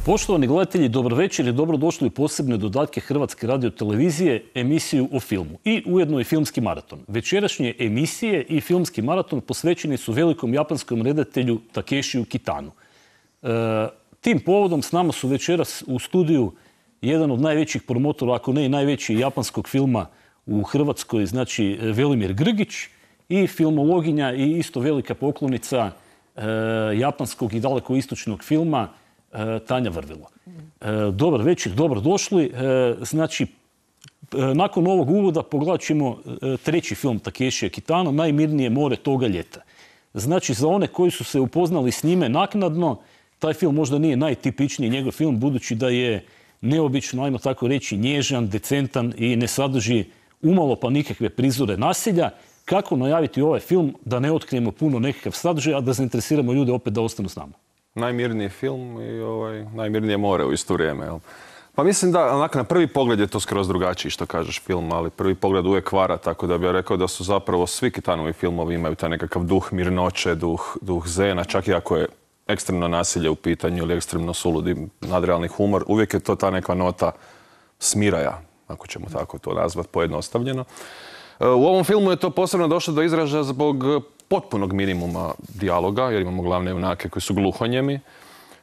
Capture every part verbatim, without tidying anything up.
Poštovani gledatelji, dobro večer i dobrodošli u posebne dodatke Hrvatske radiotelevizije, emisiju o filmu i ujedno i filmski maraton. Večerašnje emisije i filmski maraton posvećeni su velikom japanskom redatelju Takeshiju Kitanu. E, tim povodom s nama su večeras u studiju jedan od najvećih promotora, ako ne i najveći japanskog filma u Hrvatskoj, znači Velimir Grgić, i filmologinja i isto velika poklonica e, japanskog i daleko istočnog filma Tanja Vrvilo. Dobar večer, dobrodošli. Znači, nakon ovog uvoda pogledat ćemo treći film Takeshija Kitana, Najmirnije more toga ljeta. Znači, za one koji su se upoznali s njime naknadno, taj film možda nije najtipičniji njegov film, budući da je neobično, ajmo tako reći, nježan, decentan i ne sadrži umalo pa nikakve prizore nasilja. Kako najaviti ovaj film da ne otkrijemo puno nekakav sadržaj, a da zainteresiramo ljude opet da ostanu s nama? Najmirniji film i ovaj, najmirnije more u isto vrijeme. Jel? Pa mislim da onak, na prvi pogled je to skroz drugačiji što kažeš film, ali prvi pogled uvijek vara, tako da bih ja rekao da su zapravo svi Kitanovi filmovi imaju taj nekakav duh mirnoće, duh, duh zena, čak i ako je ekstremno nasilje u pitanju ili ekstremno suludi nadrealni humor, uvijek je to ta neka nota smiraja, ako ćemo tako to nazvati pojednostavljeno. U ovom filmu je to posebno došlo do izražaja zbog potpunog minimuma dijaloga, jer imamo glavne junake koji su gluhonjemi.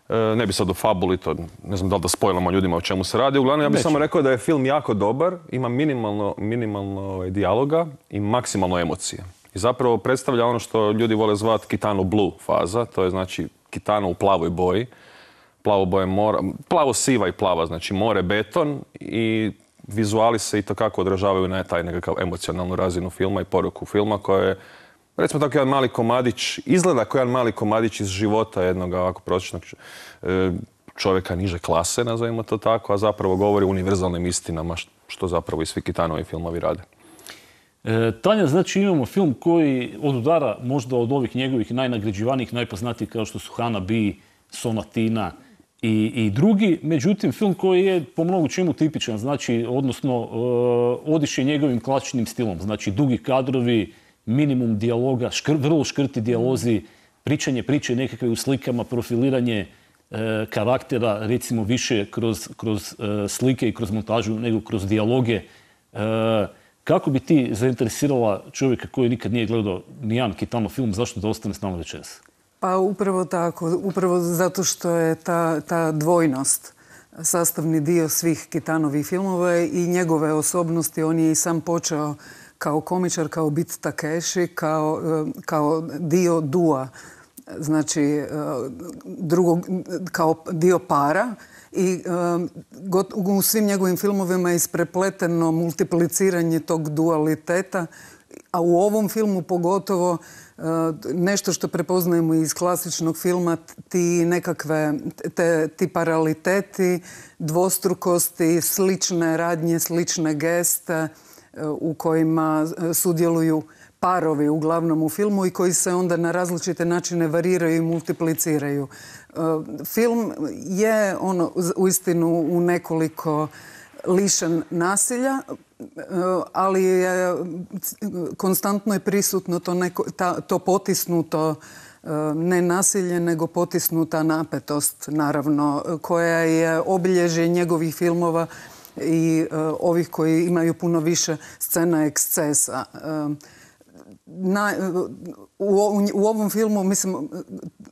Ne bi sad o fabuli, to ne znam da li da spojlamo ljudima o čemu se radi. Uglavnom, ja bih samo rekao da je film jako dobar, ima minimalno, minimalno dijaloga i maksimalno emocije. I zapravo predstavlja ono što ljudi vole zvati Kitano Blue faza, to je znači Kitano u plavoj boji. Plavo boje mora, plavo siva i plava, znači more, beton, i vizuali se i to kako odražavaju na taj nekakav emocionalnu razinu filma i poruku filma, koja je, recimo tako, jedan mali komadić, izgleda kao jedan mali komadić iz života jednog ovako prosječnog čovjeka niže klase, nazovimo to tako, a zapravo govori o univerzalnim istinama, što zapravo i svi Kitanovi filmovi rade. E, Tanja, znači imamo film koji odudara možda od ovih njegovih najnagrađivanijih, najpoznatijih kao što su Hanabi, Sonatina i, i drugi. Međutim, film koji je po mnogo čemu tipičan, znači, odnosno e, odiše njegovim klasičnim stilom, znači dugi kadrovi, minimum dijaloga, škr, vrlo škrti dijalozi, pričanje priče nekakve u slikama, profiliranje e, karaktera, recimo više kroz, kroz e, slike i kroz montažu nego kroz dijaloge. E, kako bi ti zainteresirala čovjeka koji nikad nije gledao nijedan Kitano film, zašto da ostane s nama večeras? Pa upravo tako, upravo zato što je ta, ta dvojnost sastavni dio svih Kitanovih filmova i njegove osobnosti. On je i sam počeo kao komičar, kao bit Takeshi, kao, kao dio dua, znači drugog, kao dio para. I u svim njegovim filmovima je isprepleteno multipliciranje tog dualiteta, a u ovom filmu pogotovo nešto što prepoznajemo iz klasičnog filma, ti nekakve, te, ti paraliteti, dvostrukosti, slične radnje, slične geste u kojima sudjeluju parovi uglavnom u filmu i koji se onda na različite načine variraju i multipliciraju. Film je ono uistinu u nekoliko lišen nasilja, ali je konstantno je prisutno to, neko, ta, to potisnuto ne nasilje, nego potisnuta napetost, naravno, koja je obilježje njegovih filmova i uh, ovih koji imaju puno više scena ekscesa. Uh, na, u, u ovom filmu, mislim,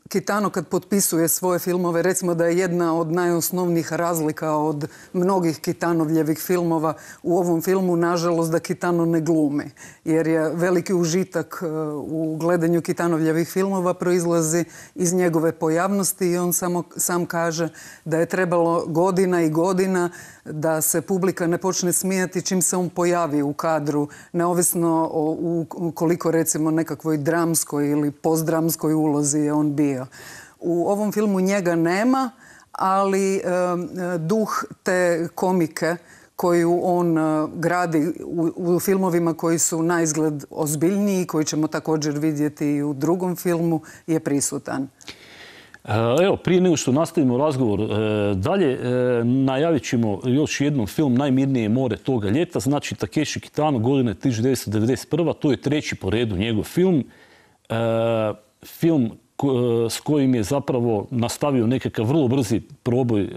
Kitano kad potpisuje svoje filmove, recimo da je jedna od najosnovnijih razlika od mnogih Kitanovljevih filmova u ovom filmu, nažalost, da Kitano ne glumi. Jer je veliki užitak u gledanju Kitanovljevih filmova proizlazi iz njegove pojavnosti i on samo, sam kaže da je trebalo godina i godina da se publika ne počne smijati čim se on pojavi u kadru, neovisno o u koliko recimo nekakvoj dramskoj ili postdramskoj ulozi je on bio. U ovom filmu njega nema, ali e, duh te komike koju on e, gradi u, u filmovima koji su naizgled ozbiljniji, koji ćemo također vidjeti i u drugom filmu, je prisutan. Evo, prije nego što nastavimo razgovor dalje, najavit ćemo još jednom film Najmirnije more toga ljeta. Znači, Takeshi Kitano, godine tisuću devetsto devedeset prva. To je treći po redu njegov film. Film s kojim je zapravo nastavio nekakav vrlo brzi proboj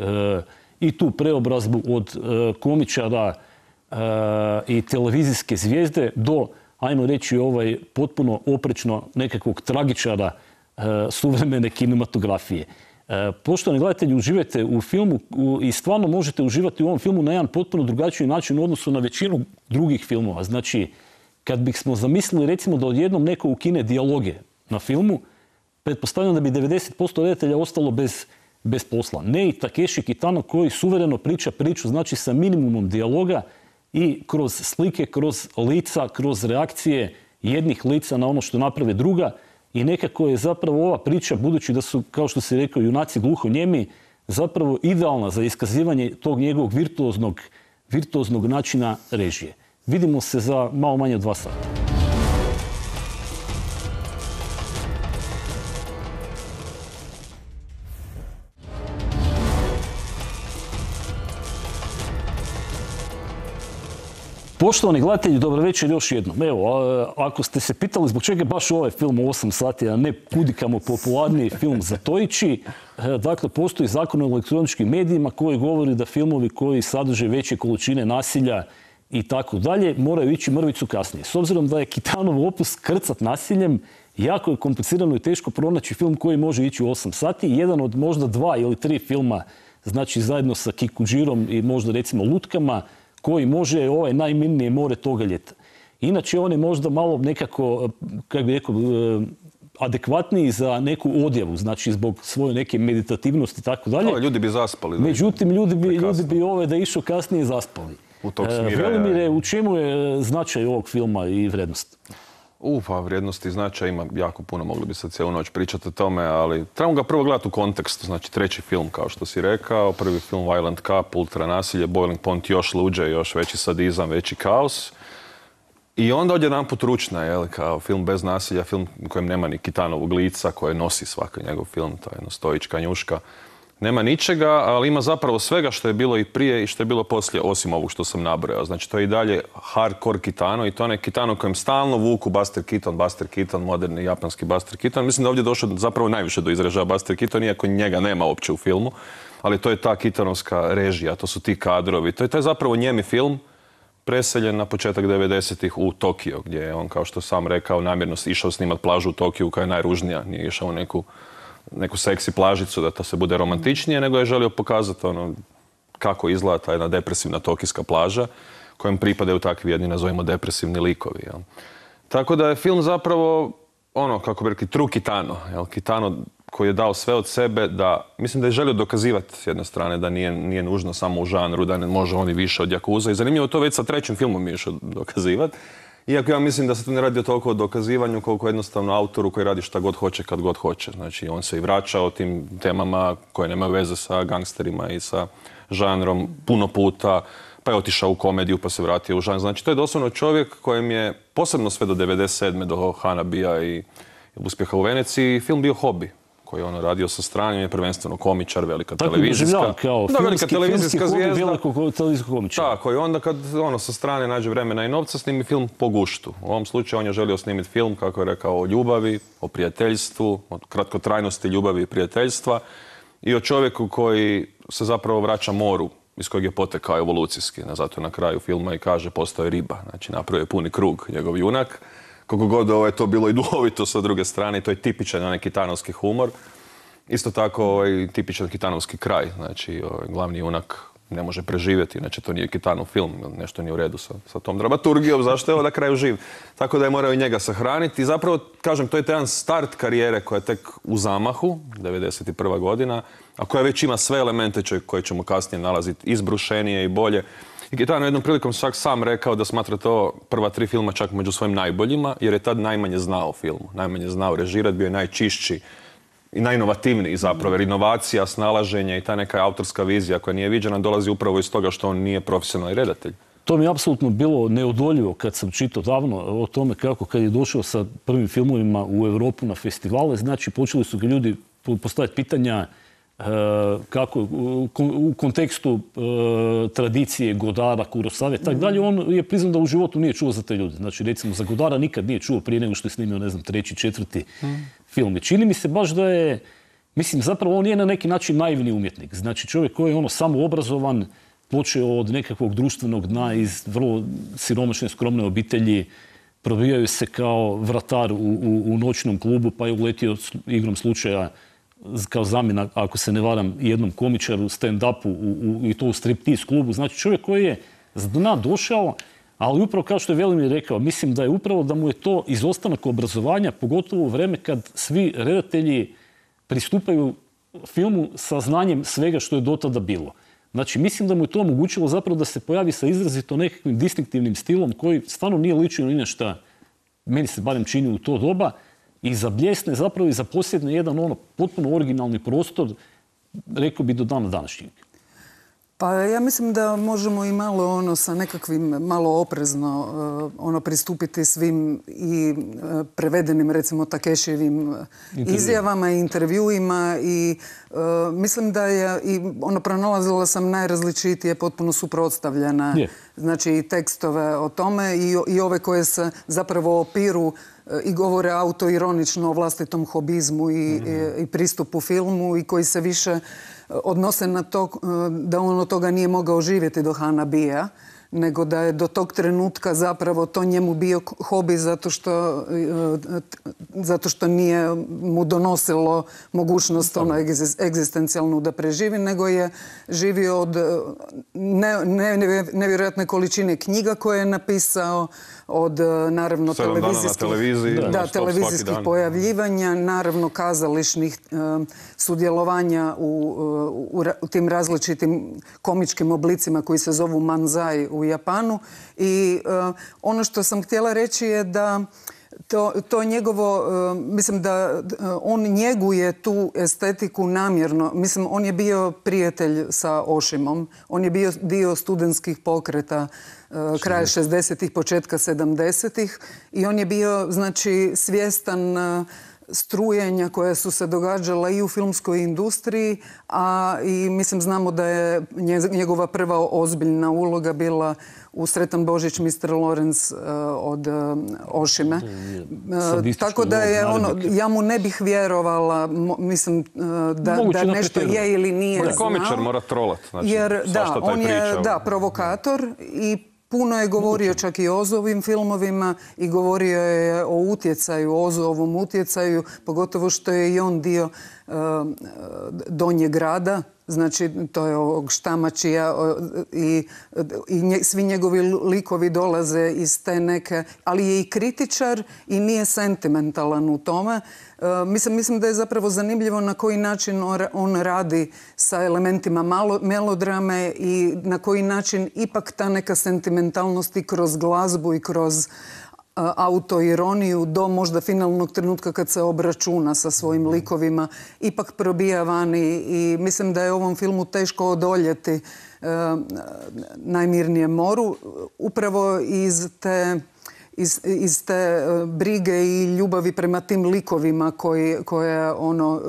i tu preobrazbu od komičara i televizijske zvijezde do, ajmo reći, ovaj potpuno oprečno nekakvog tragičara suvremene kinematografije. Poštovani gledatelji, uživajte u filmu i stvarno možete uživati u ovom filmu na jedan potpuno drugačiji način u odnosu na većinu drugih filmova. Znači, kad bismo zamislili recimo da odjednom neko ukine dijaloge na filmu, pretpostavljam da bi devedeset posto redatelja ostalo bez, bez posla. Ne i Takeshi Kitano koji suvereno priča priču, znači sa minimumom dijaloga i kroz slike, kroz lica, kroz reakcije jednih lica na ono što naprave druga. I nekako je zapravo ova priča, budući da su, kao što se rekao, junaci gluhonijemi, zapravo idealna za iskazivanje tog njegovog virtuoznog, virtuoznog načina režije. Vidimo se za malo manje od dva sata. Poštovani gledatelji, dobro večer još jednom. Evo, ako ste se pitali zbog čega je baš ovaj film u osam sati, a ne kudikamo popularniji film Zatoići, dakle, postoji zakon o elektroničkim medijima koji govori da filmovi koji sadrže veće količine nasilja i tako dalje moraju ići mrvicu kasnije. S obzirom da je Kitanov opus krcat nasiljem, jako je komplicirano i teško pronaći film koji može ići u osam sati. Jedan od možda dva ili tri filma, znači zajedno sa Kikuđirom i možda recimo Lutkama, koji može ovaj najmirnije more toga ljeta. Inače, on je možda malo nekako, kako bi rekao, adekvatniji za neku odjavu, znači zbog svoje neke meditativnosti i tako dalje. Ljudi bi zaspali. Međutim, ljudi bi, ljudi bi ove da išao kasnije zaspali. U tog smira. Velimire, u čemu je značaj ovog filma i vrijednost? U, pa vrijednosti i značaj ima jako puno, mogli bi sad cijelu noć pričati o tome, ali trebamo ga prvo gledati u kontekstu. Znači, treći film, kao što si rekao, prvi film Violent Cup, ultra nasilje, Boiling Point, još luđe, još veći sadizam, veći kaos. I onda odjedanput ručna, jel, kao film bez nasilja, film u kojem nema ni Kitanovog lica, koje nosi svaki njegov film, to je jedno stojička njuška. Nema ničega, ali ima zapravo svega što je bilo i prije i što je bilo poslije, osim ovog što sam nabrojao. Znači, to je i dalje hardcore Kitano i to je Kitano kojem stalno vuku Buster Keaton, Buster Keaton, moderni japanski Buster Keaton. Mislim da ovdje došlo zapravo najviše do izražaja Buster Keaton, iako njega nema uopće u filmu, ali to je ta Keatonovska režija, to su ti kadrovi. To je taj zapravo njemi film, preseljen na početak devedesetih u Tokio, gdje je on, kao što sam rekao, namjerno išao snimat plažu u Tokiju koja je najružnija, nije išao u neku neku seksi plažicu da to se bude romantičnije, nego je želio pokazati ono kako izgleda ta jedna depresivna tokijska plaža kojem pripadaju takvi jedni, nazovimo, depresivni likovi. Jel? Tako da je film zapravo ono, kako bi rekli, true Kitano. Jel? Kitano koji je dao sve od sebe da, mislim da je želio dokazivati s jedne strane da nije, nije nužno samo u žanru, da ne može on i više od Yakuza. I zanimljivo to već sa trećim filmom je išao dokazivati. Iako ja mislim da se tu ne radi o toliko o dokazivanju koliko jednostavno autoru koji radi šta god hoće kad god hoće. Znači, on se i vraća o tim temama koje nemaju veze sa gangsterima i sa žanrom puno puta, pa je otišao u komediju pa se vratio u žanr. Znači, to je doslovno čovjek kojem je posebno sve do devedeset sedme do Hanabija i uspjeha u Veneciji film bio hobi koji je ono radio sa strane, je prvenstveno komičar, velika tako televizijska. Tako kao da, velika filmski, televizijska filmski zvijezda. Hobi, televizijskog komičara. Tako, i onda kad ono sa strane nađe vremena i novca, snimi film po guštu. U ovom slučaju on je želio snimiti film, kako je rekao, o ljubavi, o prijateljstvu, o kratkotrajnosti ljubavi i prijateljstva i o čovjeku koji se zapravo vraća moru iz kojeg je potekao evolucijski. Zato na kraju filma i kaže postoje riba. Znači, napravio je puni krug njegov junak. Koliko god ovo je to bilo i duhovito sa druge strane, i to je tipičan onaj kitanovski humor. Isto tako ovaj, tipičan kitanovski kraj. Znači, ovaj, glavni junak ne može preživjeti, inače to nije Kitanov film, nešto nije u redu sa, sa tom dramaturgijom, zašto je ovo na kraju živ. Tako da je morao i njega sahraniti. I zapravo, kažem, to je taj jedan start karijere koja je tek u zamahu, devedeset prva godina, a koja već ima sve elemente koje ćemo kasnije nalaziti izbrušenije i bolje. I Kitano jednom prilikom čak sam rekao da smatra to prva tri filma čak među svojim najboljima, jer je tad najmanje znao o filmu, najmanje znao režirati, bio je najčišći i najinovativniji zapravo, jer inovacija, snalaženje i ta neka autorska vizija koja nije viđena dolazi upravo iz toga što on nije profesionalni redatelj. To mi je apsolutno bilo neodoljivo kad sam čitao davno o tome kako kad je došao sa prvim filmovima u Europu na festivale, znači počeli su ga ljudi postaviti pitanja kako u kontekstu tradicije Godara, Kurosave, tak dalje, on je priznao da u životu nije čuo za te ljude. Znači, recimo, za Godara nikad nije čuo prije nego što je snimio, ne znam, treći, četvrti film. I čini mi se baš da je, mislim, zapravo on je na neki način naivni umjetnik. Znači, čovjek koji je ono samo obrazovan, počeo od nekakvog društvenog dna iz vrlo siromašne, skromne obitelji, probijaju se kao vratar u, u, u noćnom klubu, pa je uletio igrom slučaja kao zamjena, ako se ne varam, jednom komičaru, stand-upu u, u, i to u striptease klubu. Znači čovjek koji je s dna došao, ali upravo kao što je Velimir rekao, mislim da je upravo da mu je to izostanak obrazovanja, pogotovo u vreme kad svi redatelji pristupaju filmu sa znanjem svega što je do tada bilo. Znači, mislim da mu je to omogućilo zapravo da se pojavi sa izrazito nekakvim distinktivnim stilom koji stvarno nije ličio ni na šta, meni se barem čini u to doba, i zabljesne zapravo i zaposjedne jedan ono potpuno originalni prostor, rekao bi do dana današnjeg. Pa ja mislim da možemo i malo ono sa nekakvim malo oprezno uh, ono pristupiti svim i uh, prevedenim recimo Takešijevim izjavama i intervjuima i uh, mislim da je i ono pronalazila sam najrazličitije potpuno suprotstavljena yeah. znači i tekstove o tome i, i ove koje se zapravo opiru i govore autoironično o vlastitom hobizmu i, mm. i, i pristupu filmu i koji se više odnose na to da on od toga nije mogao živjeti do Hanabija, nego da je do tog trenutka zapravo to njemu bio hobi zato što, zato što nije mu donosilo mogućnost ono egzistencijalnu da preživi, nego je živio od ne, ne, nevjerojatne količine knjiga koje je napisao, od naravno televizijskih, televiziji, da, da, televizijskih pojavljivanja, naravno kazališnih uh, sudjelovanja u, u, u tim različitim komičkim oblicima koji se zovu manzai u Japanu. I uh, ono što sam htjela reći je da To, to njegovo, uh, mislim da uh, on njeguje tu estetiku namjerno. Mislim, on je bio prijatelj sa Oshimom, on je bio dio studentskih pokreta uh, kraja šezdesetih, početka sedamdesetih i on je bio, znači, svjestan uh, strujenja koja su se događala i u filmskoj industriji, a i mislim znamo da je njegova prva ozbiljna uloga bila u Sretan Božić mister Lawrence uh, od uh, Oshime. Uh, tako da je ono, ja mu ne bih vjerovala, mo, mislim uh, da, da nešto je ili nije znao. Komičar mora trolat. Znači, jer da, on je da, provokator i puno je govorio čak i o Ozovim filmovima i govorio je o utjecaju, o Ozovom utjecaju, pogotovo što je i on dio uh, Donjeg grada, znači to je ovog Štamačija i, i nje, svi njegovi likovi dolaze iz te neke, ali je i kritičar i nije sentimentalan u tome. Uh, mislim, mislim da je zapravo zanimljivo na koji način on radi sa elementima malo, melodrame i na koji način ipak ta neka sentimentalnost i kroz glazbu i kroz autoironiju do možda finalnog trenutka kad se obračuna sa svojim likovima ipak probija vani i mislim da je ovom filmu teško odoljeti e, Najmirnijem moru upravo iz te Iz, iz te brige i ljubavi prema tim likovima koji, koje ono,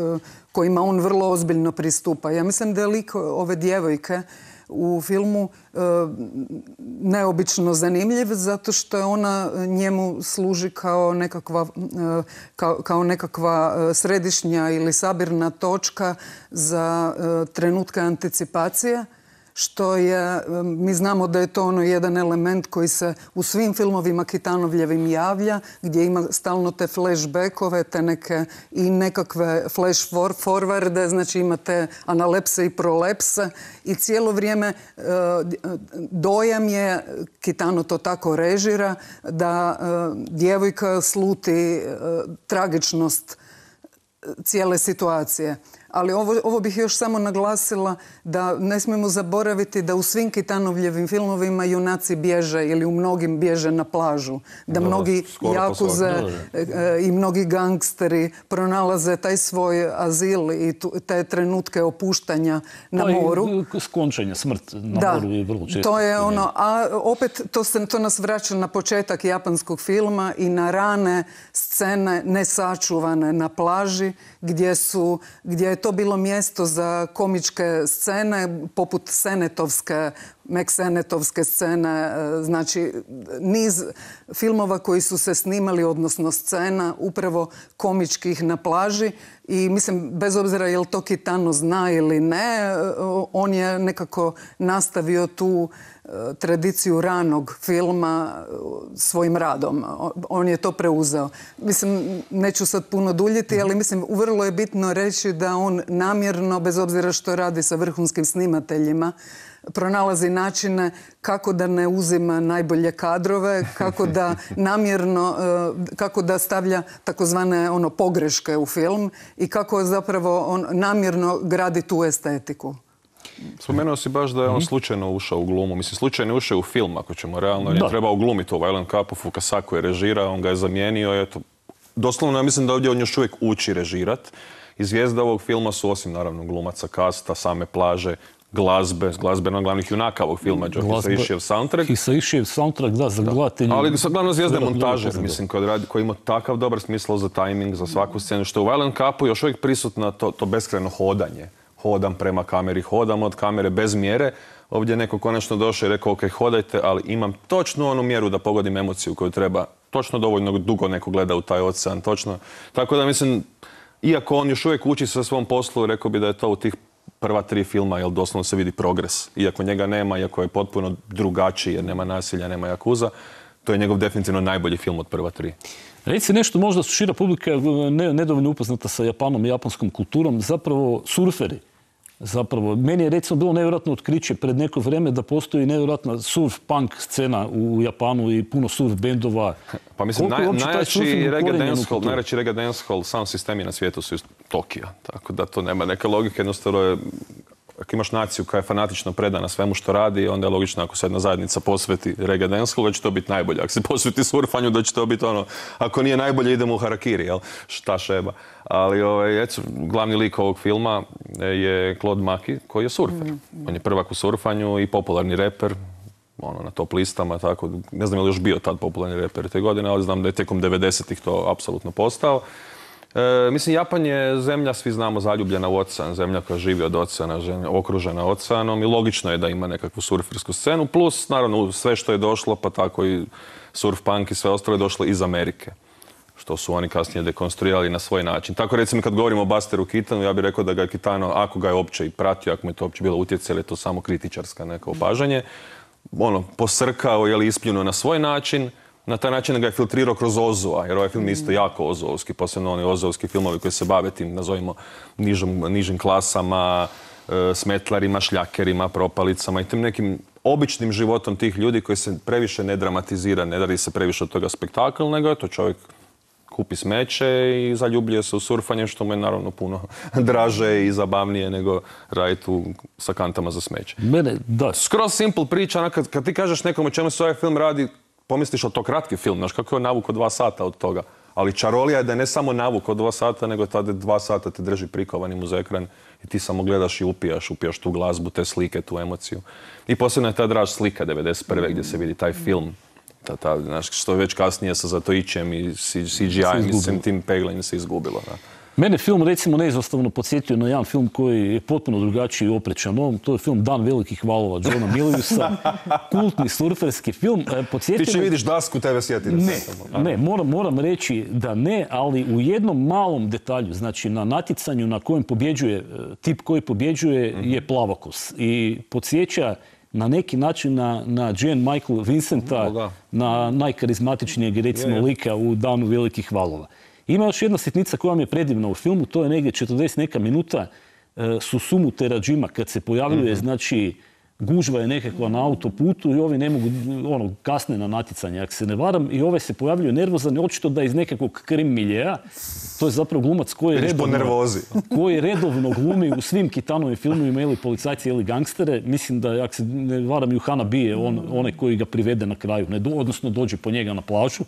kojima on vrlo ozbiljno pristupa. Ja mislim da je lik ove djevojke u filmu e, neobično zanimljiv zato što je ona njemu služi kao nekakva, e, kao, kao nekakva središnja ili sabirna točka za e, trenutke anticipacije. Što je, mi znamo da je to ono jedan element koji se u svim filmovima Kitanovljevim javlja, gdje ima stalno te flashbackove, te neke i nekakve flash forwarde, znači imate analepse i prolepse i cijelo vrijeme dojam je, Kitano to tako režira, da djevojka sluti tragičnost cijele situacije. Ali ovo, ovo bih još samo naglasila da ne smijemo zaboraviti da u svim Kitanovljevim filmovima junaci bježe ili u mnogim bježe na plažu. Da, da mnogi jakuze i mnogi gangsteri pronalaze taj svoj azil i tu, te trenutke opuštanja na pa moru. I skončanja, smrt na da, moru je vrlo često. To je ono, a opet to, se, to nas vraća na početak japanskog filma i na rane scene nesačuvane na plaži gdje su, gdje je to bilo mjesto za komičke scene, poput Senetovske, Mek-Senetovske scene, znači niz filmova koji su se snimali, odnosno scena, upravo komičkih na plaži. I mislim, bez obzira je li to Kitano zna ili ne, on je nekako nastavio tu tradiciju ranog filma svojim radom. On je to preuzeo. Mislim, neću sad puno duljiti, ali mislim, vrlo je bitno reći da on namjerno, bez obzira što radi sa vrhunskim snimateljima, pronalazi načine kako da ne uzima najbolje kadrove, kako da namjerno, kako da stavlja takozvane ono pogreške u film i kako zapravo on namjerno gradi tu estetiku. Spomenuo si baš da je on slučajno ušao u glumu. Mislim, slučajno je ušao u film, ako ćemo realno. On je trebao glumiti u Violent Cup-u, Fukasaku je režirao, on ga je zamijenio. Eto, doslovno, ja mislim da ovdje on još uvijek uči režirat. I zvijezda ovog filma su, osim naravno glumaca, kasta, same plaže, glazbe, glazbe na glavnih junaka ovog filma, Joe Hisaišijev soundtrack. Hisaišijev soundtrack, da, za gledatelji. Ali glavno zvijezda je montažer, mislim, koji ima takav dobar smisao za tajming, za svaku scenu, što u Violent Cup-u još uvijek prisutno to, to beskrajno hodanje. Hodam prema kameri, hodam od kamere bez mjere. Ovdje je neko konačno došao i rekao, ok, hodajte, ali imam točno onu mjeru da pogodim emociju koju treba. Točno dovoljno dugo neko gleda u taj ocean, točno. Tako da mislim, iako on još uvijek uči sa svom poslu, rekao bi da je to u tih prva tri filma, jer doslovno se vidi progres. Iako njega nema, iako je potpuno drugačiji, jer nema nasilja, nema jakuza, to je njegov definitivno najbolji film od prva tri. Reci nešto, možda su šira publika nedovoljno upoznata sa Japanom i japanskom kulturom, zapravo surferi. Zapravo, meni je recimo bilo nevjerojatno otkriće pred neko vrijeme da postoji nevjerojatna surf-punk scena u Japanu i puno surf bendova. Pa mislim, najjači reggae dancehall sound sistemi na svijetu su iz Tokija. Tako da to nema neke logike. Jednostavno je, ako imaš naciju koja je fanatično predana svemu što radi, onda je logično ako se jedna zajednica posveti reggae dancehall, da će to biti najbolje. Ako se posveti surfanju, da će to biti ono, ako nije najbolje, idemo u harakiri, jel? Šta šeba. Ali ovaj, eto, glavni lik ovog filma je Claude Maki, koji je surfer. Mm-hmm. On je prvak u surfanju i popularni reper, ono, na top listama, tako. Ne znam je li još bio tad popularni reper te godine, ali znam da je tijekom devedesetih to apsolutno postao. E, mislim, Japan je zemlja, svi znamo, zaljubljena u ocean, zemlja koja živi od oceana, zemlja okružena oceanom i logično je da ima nekakvu surfersku scenu, plus, naravno, sve što je došlo, pa tako i surf punk i sve ostalo je došlo iz Amerike, što su oni kasnije dekonstruirali na svoj način. Tako recimo kad govorimo o Busteru Keatonu, ja bih rekao da ga je Kitano, ako ga je uopće i pratio, ako mu je to uopće bilo utjecaj, je to samo kritičarska neka opažanje, ono, posrkao ili ispljunuo na svoj način, na taj način da ga je filtrirao kroz Ozua, jer ovaj film je isto jako ozovski, posebno oni ozovski filmovi koji se bave tim, nazovimo, nižim, nižim klasama, e, smetlarima, šljakerima, propalicama i tim nekim običnim životom tih ljudi koji se previše ne dramatizira, ne radi se previše od toga spektakl, nego je to čovjek kupi smeće i zaljubljuje se u surfanje, što mu je naravno puno draže i zabavnije nego raditi tu sa kantama za smeće. Mene, da. Skroz simple priča, kad, kad ti kažeš nekom o čemu se ovaj film radi, pomisliš od to kratki film, znaš kako je navuk od dva sata od toga. Ali čarolija je da je ne samo navuk od dva sata, nego tada dva sata te drži prikovanim uz ekran i ti samo gledaš i upijaš, upijaš tu glazbu, te slike, tu emociju. I posebno je ta draž slika devedeset prve gdje se vidi taj film. Ta, ta, znaš, što je već kasnije sa Zatoićem i C G I-em i svim tim peglanjem se izgubilo. Da. Mene film recimo neizostavno podsjetio na jedan film koji je potpuno drugačiji i oprečan ovom. To je film Dan velikih valova Johna Miliusa. Kultni surferski film. Podsjetio Ti će vidiš dasku, tebe sjeti. Ne, ne moram, moram reći da ne, ali u jednom malom detalju, znači na natjecanju na kojem pobjeđuje, tip koji pobjeđuje mm-hmm. je plavokos. I podsjeća na neki način na, na Jane Michael Vincenta, mm, na najkarizmatičnijeg recimo je, lika u Danu velikih valova. Ima još jedna sitnica koja mi je predivna u filmu, to je negdje četrdeset neka minuta e, Susumu Terajima kad se pojavljuje, mm-hmm. znači gužva je nekakva na autoputu i ovi ne mogu, ono, kasne na natjecanje, ako se ne varam, i ove se pojavljuje nervozan, očito da iz nekakvog krim miljeja. To je zapravo glumac koji je redovno, koji redovno glumi u svim Kitanovim filmovima ili policajci ili gangstere. Mislim da, ako se ne varam, Juhana bije on, onaj koji ga privede na kraju, ne, odnosno dođe po njega na plažu.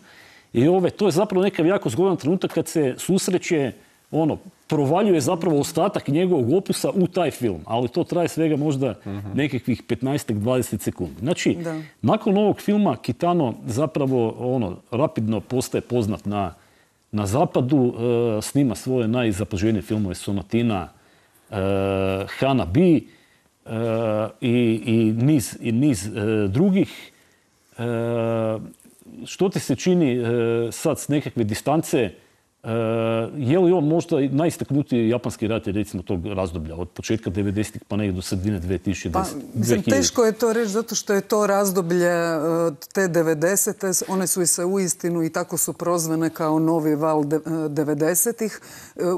I ove, to je zapravo nekav jako zgodan trenutak kad se susreće, ono, provaljuje zapravo ostatak njegovog opusa u taj film. Ali to traje svega možda mm-hmm. nekakvih petnaest do dvadeset sekundi. Znači, da. Nakon ovog filma Kitano zapravo ono, rapidno postaje poznat na, na zapadu, e, snima svoje najzapaženije filmove, Sonatina, Hana B i, i niz, i niz drugih. Što ti se čini sad s nekakve distance? Je li on možda najistaknutiji japanski redatelj recimo tog razdoblja od početka devedesetih pa nekako do sredine dve tisuće desete? Pa, mislim, teško je to reći zato što je to razdoblje te devedesete. One su i se uistinu i tako su prozvane kao novi val devedesetih.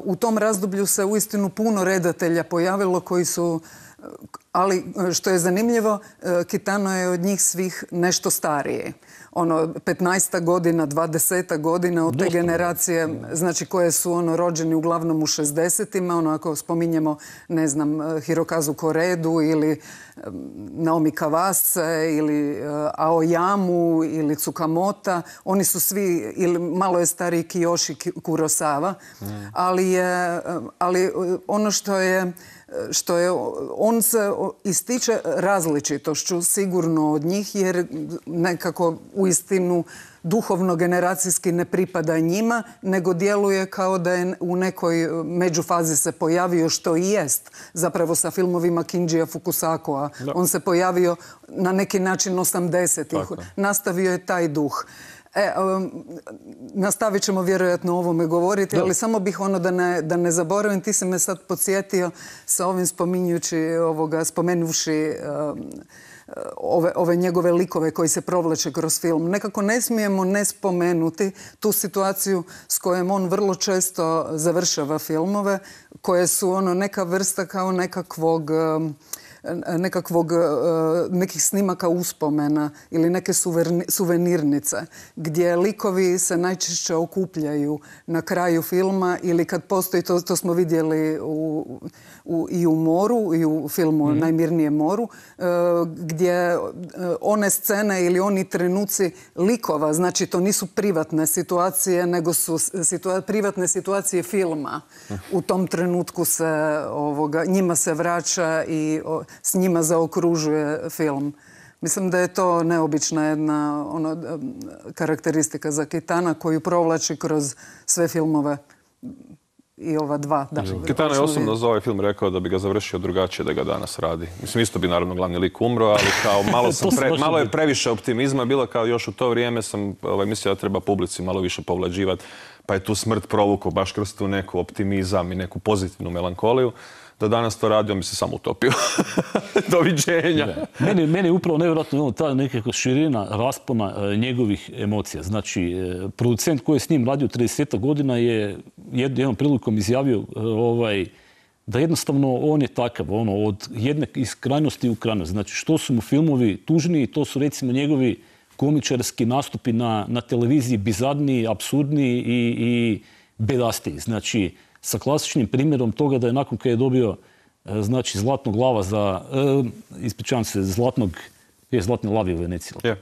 U tom razdoblju se uistinu puno redatelja pojavilo koji su, ali što je zanimljivo, Kitano je od njih svih nešto starije. Ono, petnaest godina, dvadeset godina od te generacije, znači koje su ono rođeni uglavnom u šezdesetima, ono ako spominjemo, ne znam, Hirokazu Koredu ili Naomi Kawase ili Aoyamu ili Tsukamota, oni su svi, ili malo je stariji Kiyoshi Kurosawa, ali, je, ali ono što je što je, on se ističe različitošću sigurno od njih jer nekako uistinu duhovno generacijski ne pripada njima, nego djeluje kao da je u nekoj međufazi se pojavio što i jest. Zapravo sa filmovima Kinjija Fukusakoa. On se pojavio na neki način osamdesetih. Nastavio je taj duh. E, um, nastavit ćemo vjerojatno o ovome govoriti, ali samo bih ono da ne, da ne zaboravim, ti si me sad podsjetio sa ovim spominjući, ovoga, spomenuvši um, ove, ove njegove likove koji se provlače kroz film. Nekako ne smijemo ne spomenuti tu situaciju s kojom on vrlo često završava filmove, koje su ono neka vrsta kao nekakvog... Um, nekakvog, nekih snimaka uspomena ili neke suvenirnice gdje likovi se najčešće okupljaju na kraju filma ili kad postoji, to, to smo vidjeli u, u, i u Moru i u filmu mm. Najmirnije moru, gdje one scene ili oni trenuci likova, znači to nisu privatne situacije, nego su situa privatne situacije filma. U tom trenutku se ovoga, njima se vraća i o, s njima zaokružuje film. Mislim da je to neobična jedna ono, karakteristika za Kitana koju provlači kroz sve filmove i ova dva. Da, Kitano je osobno za ovaj film rekao da bi ga završio drugačije da ga danas radi. Mislim, isto bi naravno glavni lik umro, ali kao malo, sam pre, malo je previše optimizma bilo, kao još u to vrijeme sam ovaj, mislio da treba publici malo više povlađivati, pa je tu smrt provukao baš kroz tu neku optimizam i neku pozitivnu melankoliju. Da danas to radio, mi se samo utopio. Doviđenja. Meni, meni je upravo nevjerojatno ta nekakva širina raspona e, njegovih emocija. Znači, e, producent koji je s njim radio trideset godina je jednom prilikom izjavio e, ovaj, da jednostavno on je takav, ono, od jedne iz krajnosti u krajnost. Znači, što su mu filmovi tužniji, to su recimo njegovi komičarski nastupi na, na televiziji bizarniji, apsurdniji i, i bedastiji. Znači, sa klasičnim primjerom toga da je nakon kad je dobio znači zlatnog lava za, e, ispričavam se, zlatnog, je zlatni lavi u Veneciji. Yeah.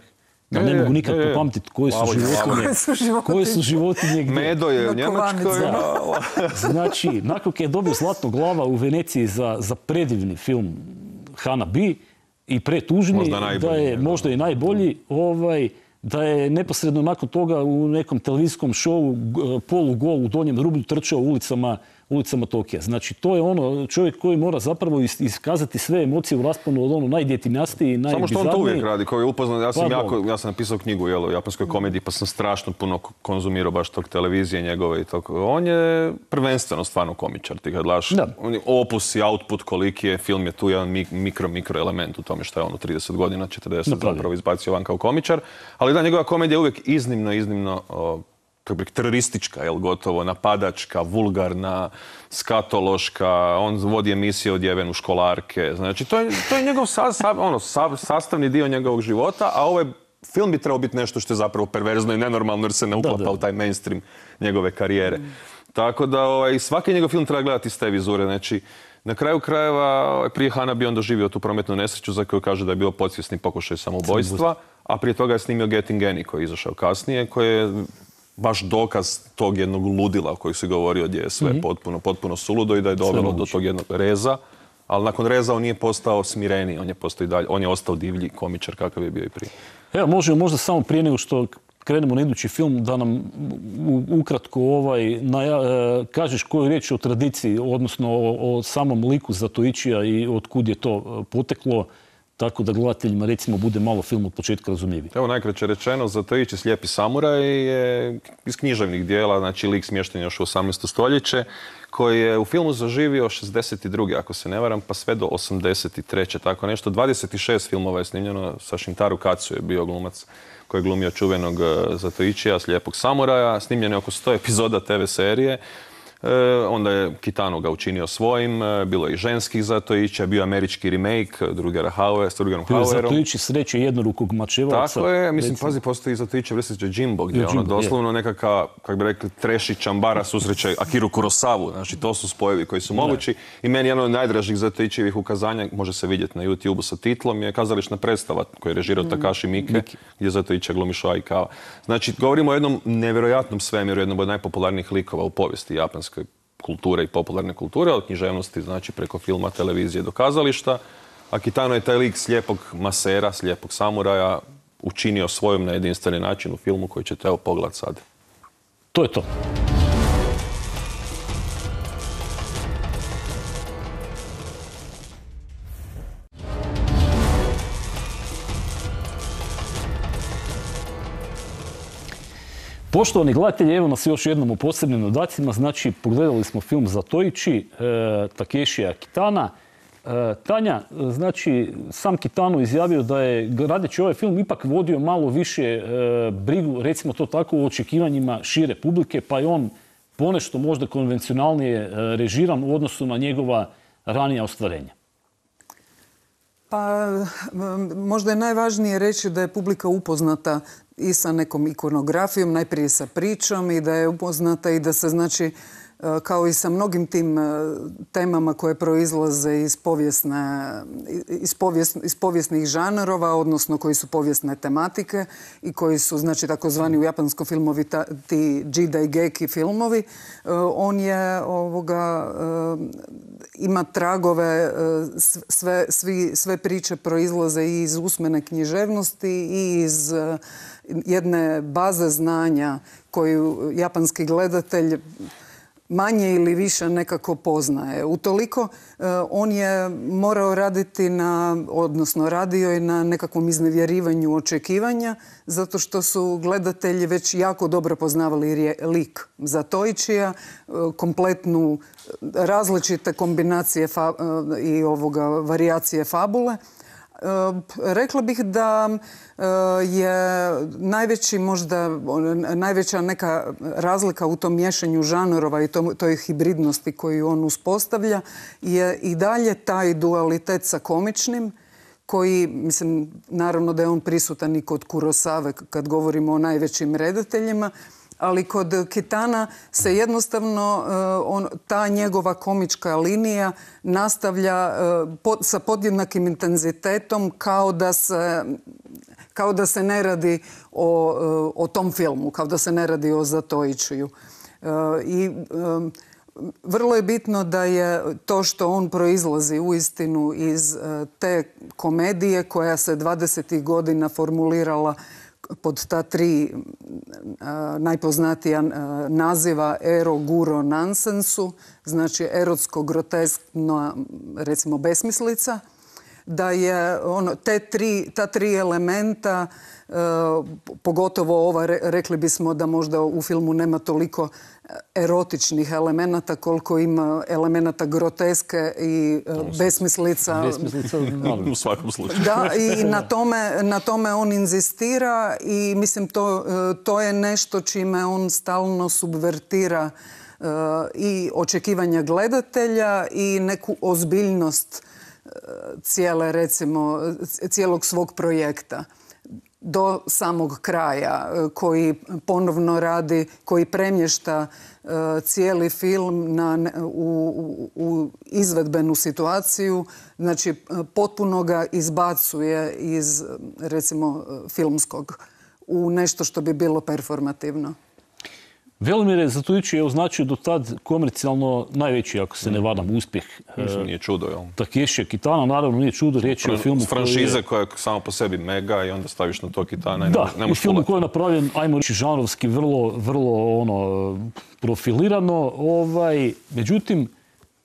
Da ne, ne mogu nikad yeah, popamtiti koje su životinje. Koje su životinje gdje. Medo je u Njemačkoj. Znači, nakon kad je dobio zlatnog lava u Veneciji za, za predivni film Hana B i pretužni, da je možda i najbolji, ovaj, da je neposredno nakon toga u nekom televizijskom šovu polugol u donjem rublju trčao ulicama, ulicama Tokija. Znači, to je ono čovjek koji mora zapravo iskazati sve emocije u rasponu od ono najdjetinjastiji i najbizarniji. Samo što on to uvijek radi, koji je upoznat. Ja sam, jako, ja sam napisao knjigu jel, o japanskoj komediji, pa sam strašno puno konzumirao baš tog televizije njegove i tako. On je prvenstveno stvarno komičar. Ti kad gledaš, on je opus i output koliki je, film je tu jedan mikro, mikro element u tome što je on u trideset godina, četrdeset zapravo izbacio van kao komičar. Ali da, njegova komedija je uvijek iznimno, iznimno o, kako bi, teroristička, jel, gotovo, napadačka, vulgarna, skatološka, on vodi emisije odjeven u školarke. Znači, to je, to je njegov sa, sa, ono, sa, sastavni dio njegovog života, a ovaj film bi trebao biti nešto što je zapravo perverzno i nenormalno jer se ne uklapa da, da. u taj mainstream njegove karijere. Mm. Tako da ovaj, svaki njegov film treba gledati iz te vizure. Znači, na kraju krajeva, prije Hana bi on doživio tu prometnu nesreću za koju kaže da je bio podsvjesni pokušaj samoubojstva, a prije toga je snimio Getting Any koji je izašao kasnije, koji je baš dokaz tog jednog ludila o kojoj si govorio gdje je sve mm-hmm. potpuno, potpuno suludo i da je dovelo do tog jednog reza. Ali nakon reza on nije postao smireniji, on je, postao i dalje, on je ostao divlji komičar kakav je bio i prije. Evo, možemo možda samo prije nego što krenemo na idući film, da nam ukratko ovaj, naja, kažeš koju riječ o tradiciji, odnosno o, o samom liku Zatoičija i od kud je to poteklo, tako da gledateljima recimo bude malo film od početka razumljiviji. Evo najkraće rečeno, Zatoiči Slijepi samuraj je iz književnih dijela, znači lik smješten još u osamnaesto stoljeće, koji je u filmu zaživio šezdeset druge ako se ne varam, pa sve do osamdeset treće tako nešto. dvadeset šest filmova je snimljeno, sa Shintaro Katsu je bio glumac koji je glumio čuvenog Zatoičija, Slijepog samuraja. Snimljeno je oko sto epizoda te ve serije. E, onda je Kitano ga učinio svojim, bilo je i ženskih Zatoičija, bio je američki remake Rutgera Hauera, s Rutgerom Hauerom. Zatoiči sreće jednorukog mačevaca. Tako je, mislim, pazi, postoji Zatoiči vrstiće Jimbo, gdje je ono doslovno nekakva, kako bi rekli, treši čambara susreće Akiru Kurosavu. Znači, to su spojevi koji su mogući. I meni jedan od najdražih Zatoičijevih ukazanja, može se vidjeti na YouTube-u sa titlom, je kazališna predstava koju je režirao Takashi Miike, gdje Zatoičija glumi Shoaikawa. Znači, govorimo o jednom nevjerojatnom svemiru, jednom od najpopularnijih likova u povijesti japanske kulture i popularne kulture, od književnosti, znači preko filma, televizije do kazališta. A Kitano je taj lik slijepog masera, slijepog samuraja učinio svojom na jedinstveni način u filmu koji ćete evo pogledati sad. To je to. Poštovani gledatelji, evo nas još jednom u posebnim dodacima. Znači, pogledali smo film Zatoiči, e, Takeshija Kitana. E, Tanja, znači, sam Kitano izjavio da je, radeći ovaj film, ipak vodio malo više e, brigu, recimo to tako, u očekivanjima šire publike, pa je on ponešto možda konvencionalnije e, režiran u odnosu na njegova ranija ostvarenja. Pa možda je najvažnije reći da je publika upoznata i sa nekom ikonografijom, najprije sa pričom, i da je upoznata i da se, znači, kao i sa mnogim tim temama koje proizlaze iz, povijesne, iz, povijesn, iz povijesnih žanrova, odnosno koji su povijesne tematike i koji su, znači, takozvani u japanskom filmovi ta, ti jidaigeki filmovi. On je ovoga, ima tragove, sve, svi, sve priče proizlaze i iz usmene književnosti i iz jedne baze znanja koju japanski gledatelj manje ili više nekako poznaje. Utoliko on je morao raditi na, odnosno radio je na nekakvom iznevjerivanju očekivanja, zato što su gledatelji već jako dobro poznavali lik Zatoičija, kompletnu različite kombinacije fa, i ovoga varijacije fabule. Rekla bih da je najveći možda, najveća neka razlika u tom miješanju žanrova i toj hibridnosti koju on uspostavlja je i dalje taj dualitet sa komičnim, koji, mislim, naravno da je on prisutan i kod Kurosave kad govorimo o najvećim redateljima, ali kod Kitana se jednostavno on, ta njegova komička linija nastavlja pod, sa podjednakim intenzitetom kao da se, kao da se ne radi o, o tom filmu, kao da se ne radi o Zatoičiju. I vrlo je bitno da je to što on proizlazi uistinu iz te komedije koja se dvadesetih godina formulirala pod ta tri a, najpoznatija a, naziva ero, guro, nansensu, znači erotsko, groteskno, recimo besmislica, da je ono, te tri, ta tri elementa, e, pogotovo ova, re, rekli bismo da možda u filmu nema toliko erotičnih elemenata koliko ima elemenata groteske i e, besmislica. Besmislica, u svakom slučaju. Da, i na tome, na tome on inzistira i mislim to, to je nešto čime on stalno subvertira e, i očekivanja gledatelja i neku ozbiljnost cijele, recimo, cijelog svog projekta do samog kraja, koji ponovno radi, koji premješta uh, cijeli film na, u, u izvedbenu situaciju, znači potpuno ga izbacuje iz, recimo, filmskog u nešto što bi bilo performativno. Velimir Zatoići je označio do tad komercijalno najveći, ako se ne varam, uspjeh. Mislim, nije čudo, jel? Takešija Kitana, naravno nije čudo, riječ je o filmu franšize koja je samo po sebi mega i onda staviš na to Kitana i da, ne možeš film koji je napravljen, ajmo reći, žanrovski, vrlo, vrlo ono, profilirano. Ovaj, međutim,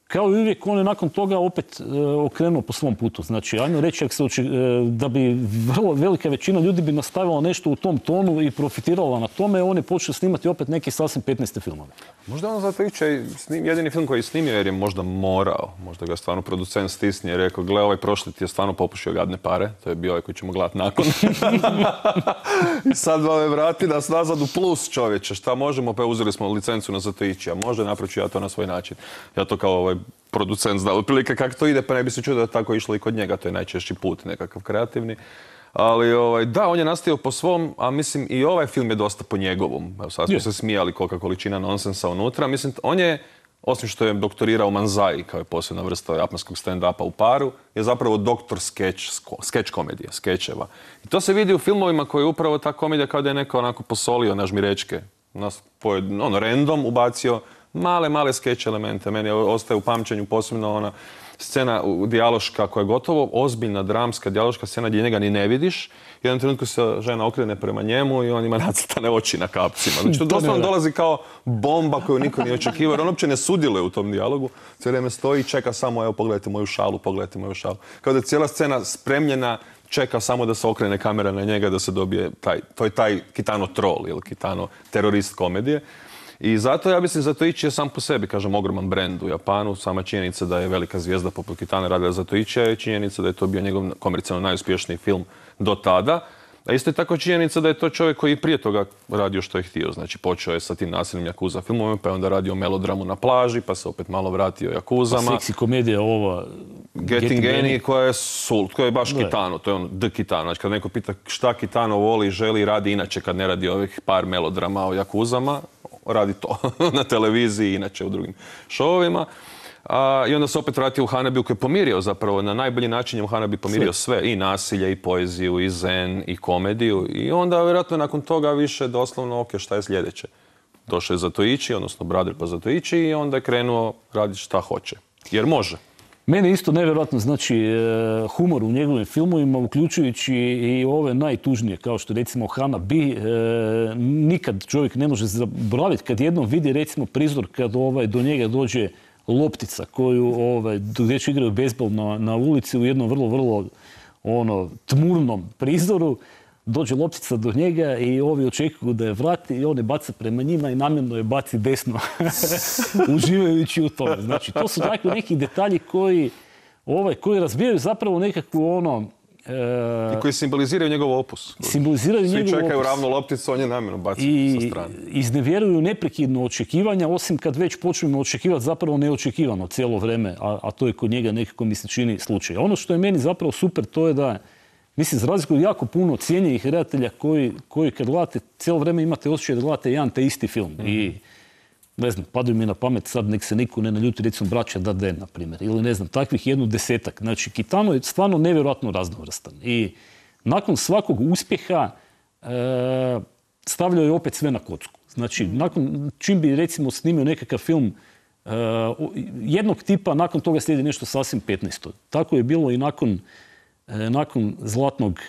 kao i uvijek, on je nakon toga opet e, okrenuo po svom putu. Znači, ajmo reći, ako se oči, e, da bi vrlo velika većina ljudi bi nastavila nešto u tom tonu i profitirala na tome, on je počeo snimati opet neki sasvim petnaeste filmove. Možda on zato iće jedini film koji je snimio jer je možda morao. Možda ga stvarno producent stisnije i rekao, gle, ovaj prošli ti je stvarno popušio gadne pare. To je bio ovaj koji ćemo gledati nakon. I sad me vrati nas nazad u plus, čovječe. Šta možemo? Pa uzeli smo licencu na Zatoićija. Može, napravit ću ja to na svoj način. Ja to kao ovaj producent zna otprilike kako to ide, pa ne bi se čuo da je tako išlo i kod njega. To je najčešći put, nekakav kreativni. Ali ovaj, da, on je nastavio po svom, a mislim i ovaj film je dosta po njegovom. Evo, sad smo se smijali kolika količina nonsensa unutra. Mislim, on je, osim što je doktorirao manzai, kao je posebna vrsta japanskog stand-upa u paru, je zapravo doktor skeč, skeč komedije, skečeva. I to se vidi u filmovima koji je upravo ta komedija kao da je neko onako posolio na žmirečke. Nas, ono, random ubacio male, male skeč elemente. Meni ostaje u pamćenju posebno ona scena dijaloška koja je gotovo ozbiljna, dramska dijaloška scena gdje njega ni ne vidiš. U jednom trenutku se žena okrene prema njemu i on ima nacrtane oči na kapcima. Znači to doslovno dolazi kao bomba koju niko nije očekivao jer on uopće ne sudjeluje u tom dijalogu. Cijelo vrijeme stoji i čeka samo, evo pogledajte moju šalu, pogledajte moju šalu. Kao da je cijela scena spremljena, čeka samo da se okrene kamera na njega, da se dobije taj, to je taj Kitano troll ili Kitano terorist komedije. I zato ja mislim Zatoići je sam po sebi, kažem, ogroman brend u Japanu. Sama činjenica da je velika zvijezda poput Kitana radila Zatoićija je činjenica da je to bio njegov komercijalno najuspješniji film do tada. A isto je tako činjenica da je to čovjek koji prije toga radio što je htio. Znači počeo je sa tim nasilnim Yakuza filmovima, pa je onda radio melodramu na plaži, pa se opet malo vratio Yakuzama. Pa seksi komedija ova... Getting Any koja je sult, koja je baš Kitano, to je ono The Kitano. Znači kad neko pita šta Kitano voli, želi, radi inače kad ne radi ovih par melodrama o Yakuzama, radi to na televiziji, inače u drugim šovovima. A, I onda se opet vratio u Hanabiju koji je pomirio zapravo, na najbolji način je u Hanabi pomirio sve. sve, i nasilje, i poeziju, i zen, i komediju. I onda vjerojatno nakon toga više doslovno, ok, šta je sljedeće? Došao je Zatoići, odnosno Brother pa Zatoići i onda je krenuo raditi šta hoće. Jer može. Mene isto nevjerojatno znači humor u njegovim filmovima, uključujući i ove najtužnije, kao što recimo Hanabi. E, nikad čovjek ne može zaboraviti kad jednom vidi recimo prizor kad ovaj, do njega dođe loptica koju ovaj, djeć igraju bejzbol na, na ulici u jednom vrlo, vrlo ono, tmurnom prizoru. Dođe loptica do njega i ovi očekuju da je vrati i on je baca prema njima i namjerno je baci desno, uživajući u tome. Znači, to su takvi neki detalji koji, ovaj, koji razbijaju zapravo nekakvu ono... E, I koji simboliziraju njegov opus. Simboliziraju njegov opus. Svi čekaju ravnu lopticu, on je namjerno baci sa strane. I iznevjeruju neprekidno očekivanja, osim kad već počnemo očekivati zapravo neočekivano cijelo vrijeme, a, a to je kod njega nekako mi se čini slučaj. Ono što je meni zapravo super, to je da mislim, za razliku od jako puno cijenjenih redatelja koji, koji kad gledate, cijelo vrijeme imate osjećaj da gledate jedan te isti film. Mm-hmm. I, ne znam, padaju mi na pamet sad, nek se niko ne naljuti, recimo Braća Dardenne, na primjer. Ili ne znam, takvih jednu desetak. Znači, Kitano je stvarno nevjerojatno raznovrstan. I nakon svakog uspjeha e, stavljao je opet sve na kocku. Znači, nakon, čim bi recimo snimio nekakav film e, jednog tipa, nakon toga slijedi nešto sasvim petnaesto. Tako je bilo i nakon nakon Zlatnog,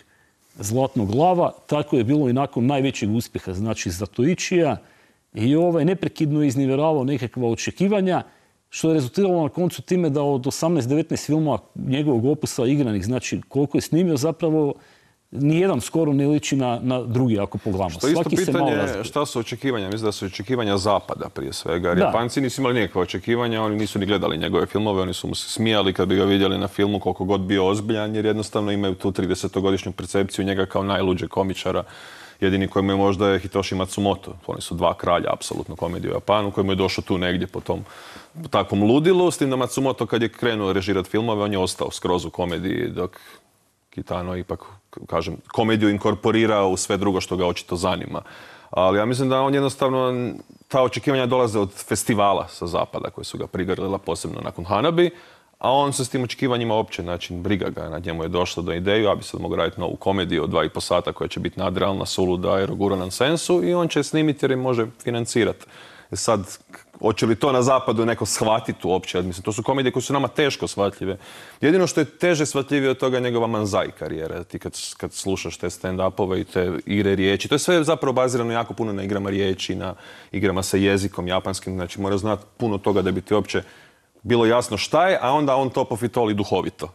Zlatnog lava, tako je bilo i nakon najvećeg uspjeha, znači Zatoićija, i ovaj neprekidno iznivjeravao nekakva očekivanja, što je rezultiralo na koncu time da od osamnaest devetnaest filmova njegovog opusa igranih, znači koliko je snimio, zapravo nijedan skoro ne liči na, na drugi ako pogledamo. Što isto pitanje je šta su očekivanja? Mislim da su očekivanja zapada prije svega. Jer Japanci nisu imali nikakve očekivanja, oni nisu ni gledali njegove filmove, oni su mu se smijali kad bi ga vidjeli na filmu koliko god bio ozbiljan, jer jednostavno imaju tu tridesetogodišnju percepciju njega kao najluđeg komičara. Jedini kojemu je možda je Hitoshi Matsumoto. Oni su dva kralja, apsolutno, komedije u Japanu, kojemu je došao tu negdje po tom po takvom ludilu. S tim da Matsumoto kad je krenuo režirati filmove, on je ostao skroz u komediji, dok Kitano ipak, kažem, komediju inkorporirao u sve drugo što ga očito zanima. Ali ja mislim da on jednostavno, ta očekivanja dolaze od festivala sa zapada koji su ga prigrlila posebno nakon Hanabi, a on se s tim očekivanjima uopće, znači, briga ga, na njemu je došlo do ideju, ja bi sad mogu raditi novu komediju od dva i po sata koja će biti nadrealna, suluda, aerogura nonsensu i on će snimiti jer je može financirati. Sad, hoće li to na zapadu neko shvatiti uopće? Mislim, to su komedije koje su nama teško shvatljive. Jedino što je teže shvatljivije od toga je njegova manzai karijera. Ti kad, kad slušaš te stand-upove i te igre riječi, to je sve zapravo bazirano jako puno na igrama riječi, na igrama sa jezikom japanskim. Znači, mora znati puno toga da bi ti uopće bilo jasno šta je, a onda on to pofitoli duhovito.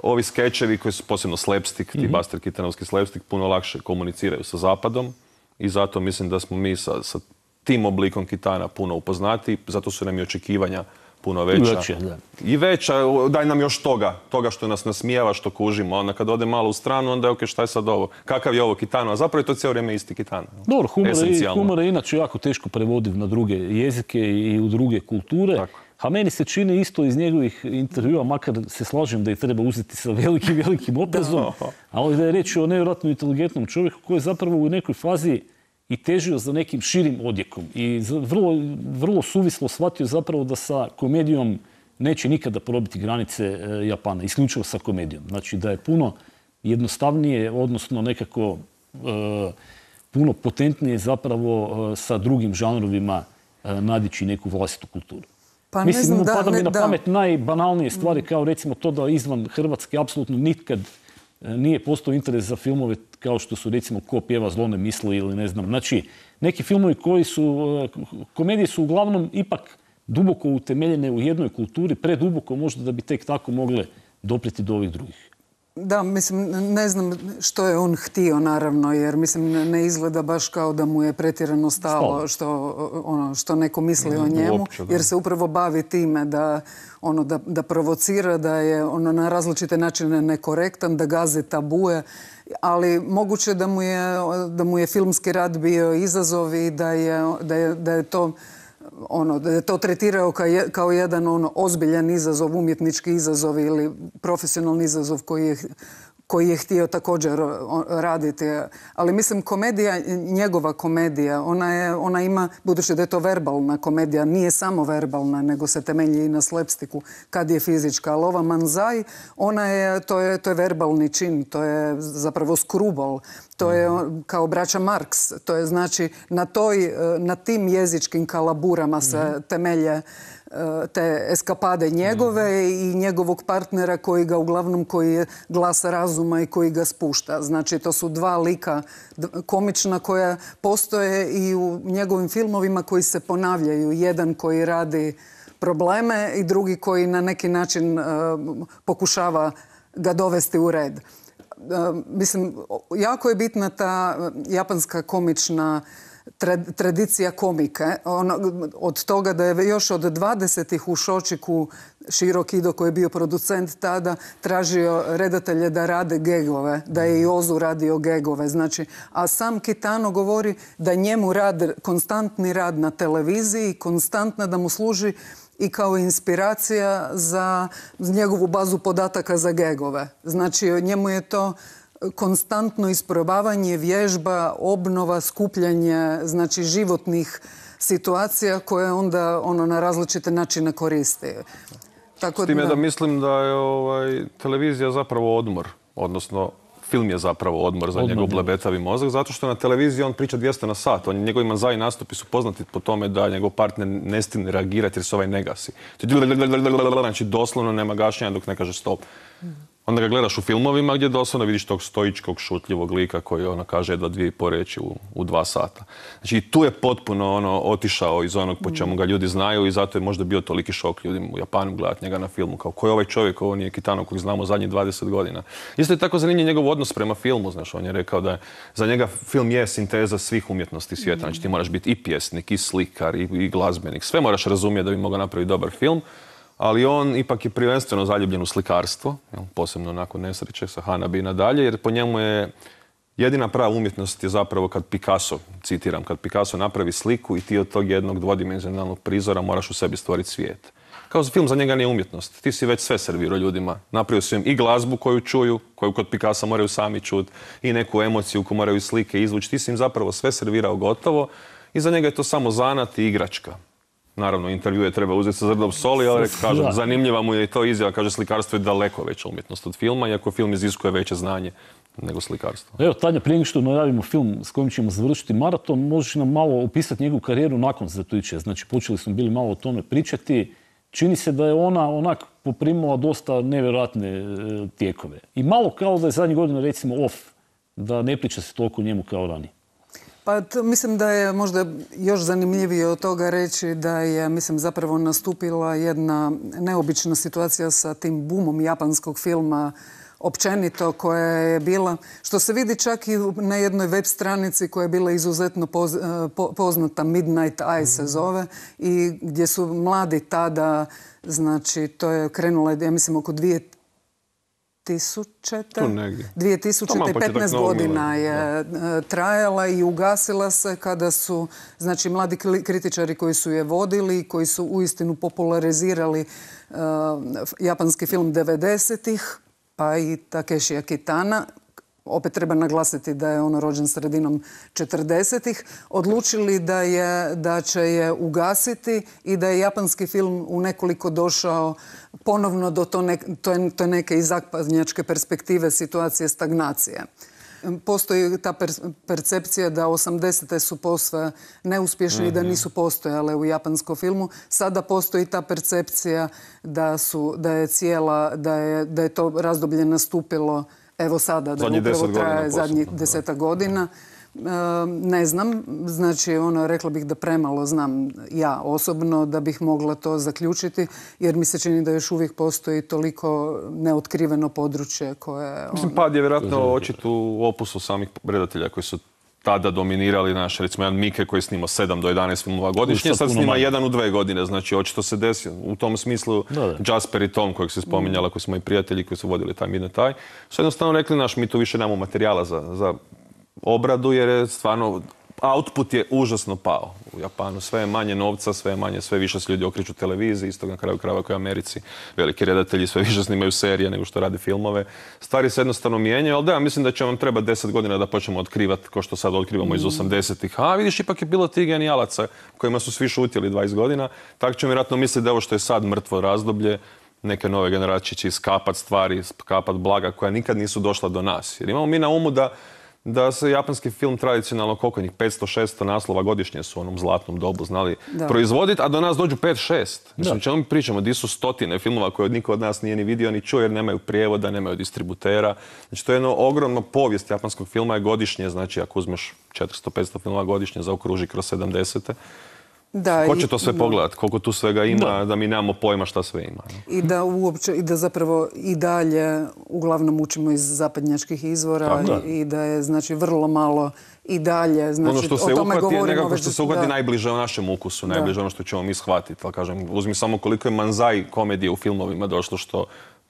Ovi skečevi koji su posebno slapstick, ti Buster Keatonovski slapstick, puno lakše komuniciraju sa zapadom i zato mislim da smo mi sa, sa tim oblikom Kitana puno upoznati, zato su nam i očekivanja puno veća. Veće, da. I veća, daj nam još toga, toga što nas nasmijeva, što kužimo. Onda kad ode malo u stranu, onda je ok, šta je sad ovo? Kakav je ovo Kitano? A zapravo je to cijelo vrijeme isti Kitano. Dobro, humor je, humor je inače jako teško prevodiv na druge jezike i u druge kulture. Tako. A meni se čini isto iz njegovih intervjua, makar se slažem da ih treba uzeti sa velikim, velikim oprezom, ali da je reč o nevjerojatno inteligentnom čovjeku koji je zapravo u nekoj fazi i težio za nekim širim odjekom. I vrlo, vrlo suvislo shvatio zapravo da sa komedijom neće nikada probiti granice e, Japana, isključivo sa komedijom. Znači da je puno jednostavnije, odnosno nekako e, puno potentnije zapravo e, sa drugim žanrovima e, nadići neku vlastitu kulturu. Pa Mislim, ne znam, da, pada mi ne, na da. pamet najbanalnije stvari, kao recimo to da izvan Hrvatske apsolutno nikad nije postao interes za filmove kao što su recimo Ko pjeva zlo ne misli ili ne znam. Znači, neki filmovi koji su, komedije su uglavnom ipak duboko utemeljene u jednoj kulturi, preduboko možda da bi tek tako mogle dopriti do ovih drugih. Da, mislim, ne znam što je on htio, naravno, jer mislim, ne izgleda baš kao da mu je pretjerano stalo što, ono, što neko misli o njemu, uopće, jer se upravo bavi time da, ono, da, da provocira, da je ono, na različite načine nekorektan, da gazi tabue, ali moguće da mu je, da mu je filmski rad bio izazov i da je, da je, da je to ono, da je to tretirao kao, je, kao jedan ono, ozbiljan izazov, umjetnički izazov ili profesionalni izazov koji je, koji je htio također raditi. Ali mislim, komedija, njegova komedija, ona, je, ona ima, budući da je to verbalna komedija, nije samo verbalna, nego se temelji i na slapsticku kad je fizička. Ali ova manzai, ona je, to je, to je verbalni čin, to je zapravo skrubol. To je kao braća Marks. To je znači na, toj, na tim jezičkim kalaburama se temelje te eskapade njegove i njegovog partnera koji ga uglavnom, koji je glas razuma i koji ga spušta. Znači to su dva lika komična koja postoje i u njegovim filmovima koji se ponavljaju. Jedan koji radi probleme i drugi koji na neki način uh, pokušava ga dovesti u red. Uh, mislim, jako je bitna ta japanska komična tradicija komike. Ono, od toga da je još od dvadesetih u Shochiku Shirokido, koji je bio producent tada, tražio redatelje da rade gegove, da je i Ozu radio gegove. Znači, a sam Kitano govori da njemu rad, konstantni rad na televiziji, konstantna da mu služi i kao inspiracija za njegovu bazu podataka za gegove. Znači, njemu je to konstantno isprobavanje, vježba, obnova, skupljanje, znači životnih situacija koje onda ono na različite načine koristi. Tako, S tim je da, da mislim da je ovaj, televizija zapravo odmor, odnosno film je zapravo odmor za odmor, njegov blebetavi mozak, zato što na televiziji on priča dvjesto na sat. On, njegovi manzai nastupi su poznati po tome da njegov partner ne stigne reagirati jer se ovaj ne gasi. Znači doslovno nema gašenja dok ne kaže stop. Onda ga gledaš u filmovima gdje doslovno vidiš tog stoičkog, šutljivog lika koji ono kaže jedva dvije i po reći u, u dva sata. Znači tu je potpuno ono otišao iz onog po čemu ga ljudi znaju i zato je možda bio toliki šok ljudima u Japanu gledati njega na filmu. Kao ko je ovaj čovjek, ovo nije Kitano kojeg znamo zadnjih dvadeset godina. Isto je tako zanimljiv njegov odnos prema filmu. Znaš, on je rekao da je, za njega film je sinteza svih umjetnosti svijeta. Znači ti moraš biti i pjesnik, i slikar, i, i glazbenik. Sve moraš razumjeti da bi mogao napraviti dobar film. Ali on ipak je prvenstveno zaljubljen u slikarstvo, posebno nakon nesreće sa Hanabi i nadalje, jer po njemu je jedina prava umjetnost je zapravo kad Picasso, citiram, kad Picasso napravi sliku i ti od tog jednog dvodimenzionalnog prizora moraš u sebi stvoriti svijet. Kao film za njega nije umjetnost. Ti si već sve servirao ljudima. Napravio si im i glazbu koju čuju, koju kod Picassa moraju sami čuti, i neku emociju koju moraju slike izvući. Ti si im zapravo sve servirao gotovo i za njega je to samo zanat i igračka. Naravno, intervjue treba uzeti sa zrnom soli, ali kažem, Da. zanimljiva mu je i to izjava, kaže slikarstvo je daleko veća umjetnost od filma, iako film iziskuje veće znanje nego slikarstvo. Evo, Tanja, prije nego što najavimo film s kojim ćemo završiti maraton, možeš nam malo opisati njegovu karijeru nakon Zatoičija. Znači, počeli smo bili malo o tome pričati. Čini se da je ona onak poprimila dosta nevjerojatne e, tijekove. I malo kao da je zadnjih godina, recimo, off, da ne priča se toliko o njemu kao ranije. Pa to, mislim da je možda još zanimljivije od toga reći da je, mislim, zapravo nastupila jedna neobična situacija sa tim bumom japanskog filma općenito koja je bila, što se vidi čak i na jednoj web stranici koja je bila izuzetno poz, po, poznata, Midnight Eye se zove, i gdje su mladi tada, znači to je krenulo, ja mislim, oko dvije tisućite. Tu negdje. dvije tisućite, Taman početak petnaest novog godina milenija. je e, trajala i ugasila se kada su, znači, mladi kli- kritičari koji su je vodili, koji su uistinu popularizirali e, japanski film devedesetih, pa i Takeshija Kitana, opet treba naglasiti da je on rođen sredinom četrdesetih, odlučili da, je, da će je ugasiti i da je japanski film u nekoliko došao ponovno do to, ne, to, je, to je neke iz zapadnjačke perspektive situacije stagnacije. Postoji ta per, percepcija da osamdesete su posve neuspješni i da nisu postojale u japanskom filmu. Sada postoji ta percepcija da, su, da je cijela, da je, da je to razdoblje nastupilo evo sada, da Zadnjih upravo deset godina traje zadnjih posebno, da. deseta godina. E, ne znam, znači ono, rekla bih da premalo znam ja osobno da bih mogla to zaključiti, jer mi se čini da još uvijek postoji toliko neotkriveno područje koje... Mislim, pad je vjerojatno očit u opusu samih redatelja koji su tada dominirali, naš, recimo, jedan Mike koji je snimao sedam do jedanaest filmova godišnje, Sad sad puno snima manje. jedan u dve godine, znači očito se desi. U tom smislu Da, da. Jasper i Tom, kojeg se spominjala, koji su moji prijatelji koji su vodili taj Midnight Eye, su jednostavno rekli, naš, mi tu više nemamo materijala za, za obradu, jer je stvarno output je užasno pao u Japanu. Sve je manje novca, sve je manje, sve više se ljudi okreću televiziji, isto na kraju krajeva kao u Americi. Veliki redatelji sve više snimaju serije nego što rade filmove. Stvari se jednostavno mijenjaju, ali da, mislim da će vam trebati deset godina da počnemo otkrivati, ko što sad otkrivamo iz osamdesetih. A vidiš, ipak je bilo tih genijalaca kojima su svi šutjeli dvadeset godina. Tako ćemo vjerojatno misliti da ovo što je sad mrtvo razdoblje, neke nove generacije će iskapat stvari, iskapat blaga koja nikad nisu došla do nas. Jer imamo mi na umu da da se japanski film tradicionalno, koliko njih, petsto šesto naslova godišnje su u onom zlatnom dobu znali Da. proizvoditi, a do nas dođu pet šest. Mislim, o čemu mi pričamo, di su stotine filmova koje niko od nas nije ni vidio, ni čuo, jer nemaju prijevoda, nemaju distributera. Znači, to je jedno ogromno povijest japanskog filma je godišnje, znači ako uzmeš četiristo petsto filmova godišnje, zaokruži kroz sedamdesete. Da, Ko i- će to sve da. pogledati? Koliko tu svega ima, da, Da. mi nemamo pojma šta sve ima. ne? I da uopće, i da zapravo i dalje uglavnom učimo iz zapadnjačkih izvora Tako. i, i da je, znači, vrlo malo i dalje, znači, Ono što o se tome uhvati je govorimo nekako već- što se uhvati da. najbliže o našem ukusu, najbliže ono što ćemo mi shvatiti. Ali kažem, uzmi samo koliko je manzai komedije u filmovima došlo što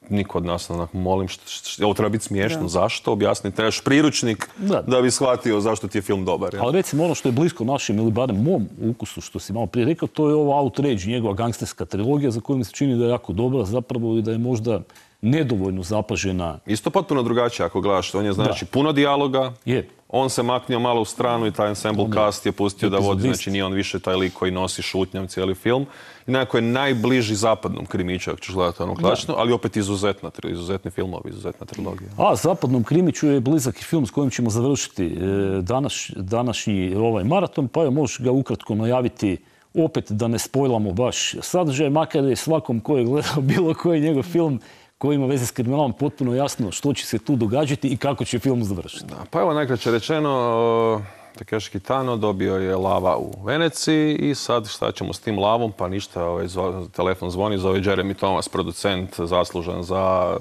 niko od nas, onak, molim, što, što, ovo treba biti smiješno, Da. zašto? Objasni, trebaš priručnik da. Da. bi shvatio zašto ti je film dobar. jel? Ali recimo ono što je blisko našem ili barem mom ukusu, što si malo prije rekao, to je ova Outrage, njegova gangsterska trilogija za koju mi se čini da je jako dobra zapravo i da je možda nedovoljno zapažena. Isto potpuno drugačije ako gledaš. On je znači puno dijaloga, Je. on se maknio malo u stranu i taj ensemble On je cast je pustio da vodi, epizodist. znači nije on više taj lik koji nosi šutnjom cijeli film. I nekako je najbliži zapadnom krimiću, ako ćeš gledati ono klasično, ali opet izuzetna, tri- izuzetni filmovi, izuzetna trilogija. A zapadnom krimiću je blizak i film s kojim ćemo završiti e, danas, današnji ovaj maraton, pa evo možeš ga ukratko najaviti opet da ne spojlamo baš sadržaj, makar je svakom ko je gledao bilo koji njegov film koji ima veze s kriminalom potpuno jasno što će se tu događati i kako će film završiti. Da, pa evo najkraće rečeno, Takeshi Kitano dobio je lava u Veneciji i sad šta ćemo s tim lavom, pa ništa, ovaj, zvo- telefon zvoni, zove Jeremy Thomas, producent, zaslužan za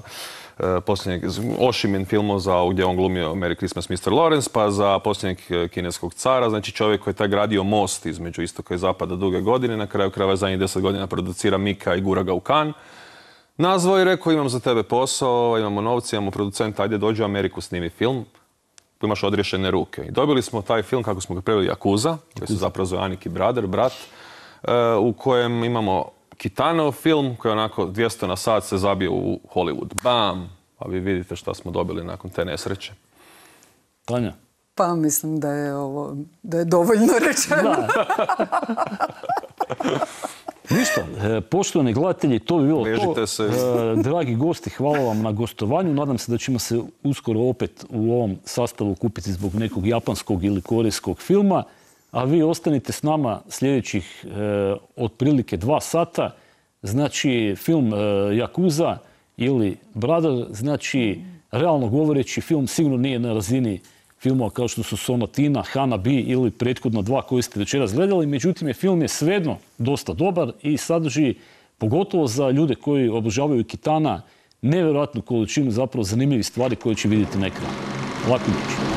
e, posljednjeg Oshimin filmu za gdje je on glumio Merry Christmas mister Lawrence, pa za posljednjeg e, kineskog cara, znači čovjek koji je taj gradio most između istoka i zapada duge godine, na kraju krajeva zadnjih deset godina producira Mika i gura ga u Cannes. Nazvao i rekao, imam za tebe posao, imamo novce, imamo producenta, ajde dođi u Ameriku, snimi film. Tu imaš odriješene ruke. I dobili smo taj film, kako smo ga preveli, Yakuza, koji se zapravo zove Aniki Brother, brat, e, u kojem imamo Kitanov film, koji je onako dvjesto na sat se zabio u Hollywood. Bam! Pa vi vidite šta smo dobili nakon te nesreće. Tanja? Pa mislim da je ovo, da je dovoljno rečeno. Da. Ništa, e, poštovani gledatelji, to bi bilo Vežite to. se. E, dragi gosti, hvala vam na gostovanju. Nadam se da ćemo se uskoro opet u ovom sastavu kupiti zbog nekog japanskog ili korejskog filma. A vi ostanite s nama sljedećih e, otprilike dva sata. Znači, film e, Yakuza ili Brother, znači, realno govoreći, film sigurno nije na razini filmova kao što su Sonatina, Hanabi ili prethodno dva koje ste večeras gledali. Međutim, je film je svejedno dosta dobar i sadrži, pogotovo za ljude koji obožavaju Kitana, nevjerojatnu količinu zapravo zanimljivih stvari koje će vidjeti na ekranu. Laku noć.